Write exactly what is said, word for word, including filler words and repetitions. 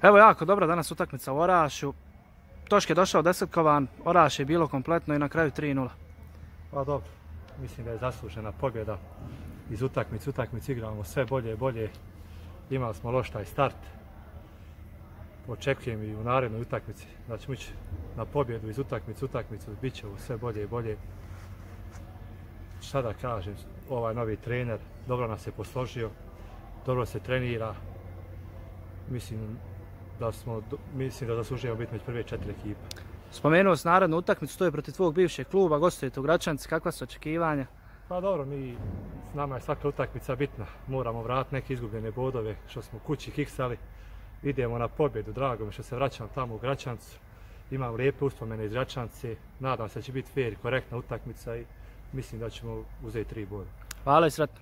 Evo jako dobra danas utakmica u Orašju. Tošk je došao desetkovan, Oraš je bilo kompletno i na kraju tri nula. Pa dobro, mislim da je zaslužena pobjeda. Iz utakmice utakmice igramo sve bolje i bolje. Imali smo loš taj start. Očekujem i u narednoj utakmici da ćemo ići na pobjedu iz utakmice utakmicu. Bit će sve bolje i bolje. Šta da kažem, ovaj novi trener dobro nas je posložio, dobro se trenira. Mislim da smo, mislim da zaslužujemo biti među prve četiri ekipe. Spomenuo si narednu utakmicu, to je protiv tvog bivšeg kluba, gostujete u Gračanci, kakva su očekivanja? Pa dobro, mi, nama je svaka utakmica bitna, moramo vratiti neke izgubljene bodove što smo kući kiksali. Idemo na pobjedu, drago mi što se vraćam tamo u Gračancu. Imam lijepe uspomene iz Gračance, nadam se da će biti fair i korektna utakmica i mislim da ćemo uzeti tri boda. Hvala i sretno.